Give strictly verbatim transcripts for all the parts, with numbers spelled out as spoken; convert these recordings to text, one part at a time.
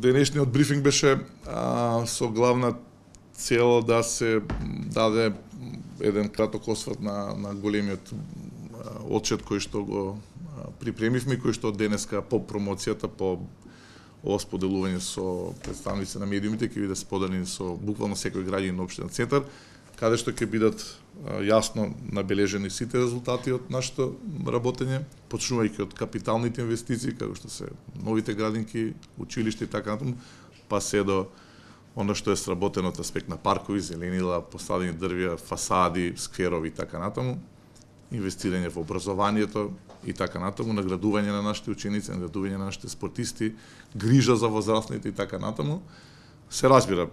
Денешниот брифинг беше а, со главна цел да се даде еден краток осврт на, на големиот отчет кој што го припремивме, кој што денеска по промоцијата, по ова споделување со представници на медиумите ќе биде споделени со буквално секој граѓанин на општина Центар, каде што ќе бидат јасно набележени сите резултати од нашето работење, почнувајќи од капиталните инвестиции, како што се новите градинки, училишта и така натаму, па се до оно што е сработено од аспект на паркови, зеленила, посадени дрвја, фасади, скверови и така натаму, инвестирање во образованието и така натаму, наградување на нашите ученици, наградување на нашите спортисти, грижа за возрастните и така натаму. Се разбира,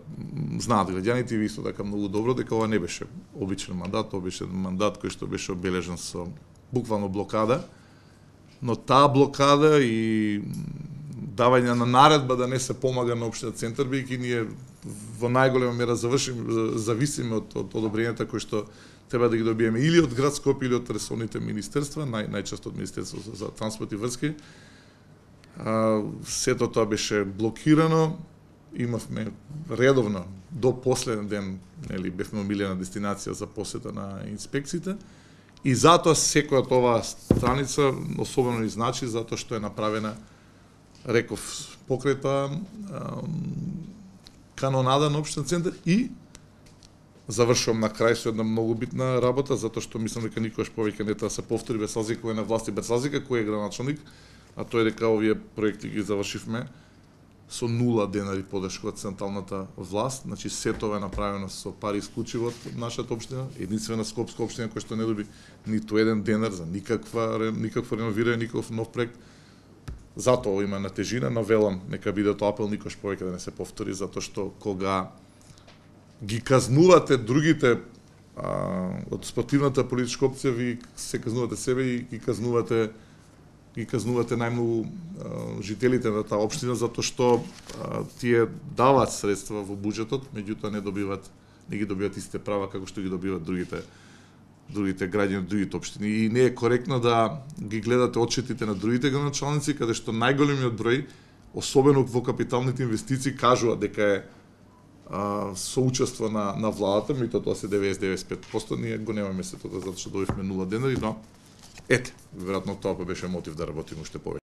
знаат граѓаните и ви исто така многу добро дека ова не беше обичен мандат, тоа беше мандат кој што беше обележен со буквално блокада, но таа блокада и давање на наредба да не се помага на општина Центар, бидејќи ние во најголема мера завршим, зависиме од, од одобрењата кои што треба да ги добиеме или од град Скопје или од ресорните министерства, нај, најчесто од Министерството за транспорт и врски. А, сето тоа беше блокирано, имавме редовно до последен ден, нели, бевме омилена дестинација за посета на инспекциите и затоа секоја од оваа страница особено ни значи затоа што е направена, реков, покрај тоа канонада на општина Центар и завршувам на крај со една многу битна работа, затоа што мислам дека никогаш повеќе не треба да се повтори без разлика кој е на власт и без разлика кој е градоначалник, а тоа е дека овие проекти ги завршивме со нула денари поддршка од централната власт, значи се тоа е направено со пари исклучиво од нашата општина, единствена скопска општина која што не доби ниту еден денар за никаква никакво реновирање, никаков нов проект. Затоа има на тежина, но велам нека биде тоа апел никош повеќе да не се повтори, затоа што кога ги казнувате другите а, од спортивната политичка опција, ви се казнувате себе и ги казнувате ги казнувате најмногу жителите на таа општина, затоа што а, тие даваат средства во буџетот, меѓутоа не добиваат, не ги добиваат истите права како што ги добиваат другите другите граѓани од другите општини. И не е коректно да ги гледате отчетите на другите градоначалници, каде што најголемиот број, особено во капиталните инвестиции, кажува дека е а, соучество на, на владата, меѓутоа тоа се деветдесет до деветдесет и пет проценти, ние го немаме сето тоа затоа што добивме нула денари, но ете, веројатно тоа па беше мотив да работиме уште повеќе.